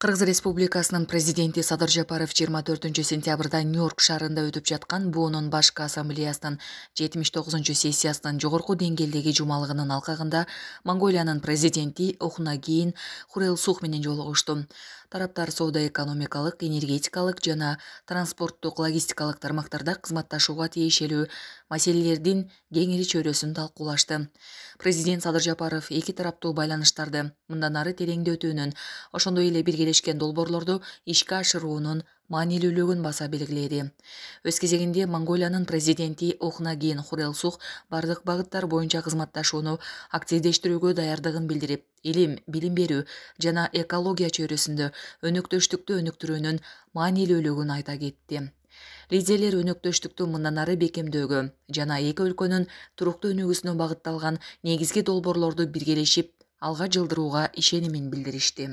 Кыргыз Республикасынын президенти Садыр Жапаров 24-сентябрда Нью-Йорк шаарында өтүп жаткан БООнун башкы ассамблеясынын 79-сессиясынын жогорку деңгээлдеги жумалыгынын алкагында Монголиянын президенти Ухнаагийн Хурэлсух менен жолугушту. Тараптар соода-экономикалык, энергетикалык жана транспорттук логистикалык тармактарда кызматташууга тиешелүү маселелердин кеңири чөйрөсүн талкуулашты. Президент Садыр Жапаров эки тараптуу байланыштарды мындан ары тереңдетүүнүн, ошондой эле биргелешкен долбоорлорду ишке ашыруунун маанилүүлүгүн баса белгиледи. Өз кезегинде Монголиянын президенти Ухнаагийн Хурэлсух бардык багыттар боюнча кызматташууну активдештирүүгө даярдыгын билдирип, илим, билим берүү жана экология чөйрөсүндө өнөктөштүктү өнүктүрүүнүн маанилүүлүгүн айта кетти. Лидерлер өнөктөштүктү мындан ары бекемдөөгө жана эки өлкөнүн туруктуу өнүгүүсүнө багытталган негизги долбоорлорду биргелешип алга жылдырууга ишенимин билдиришти.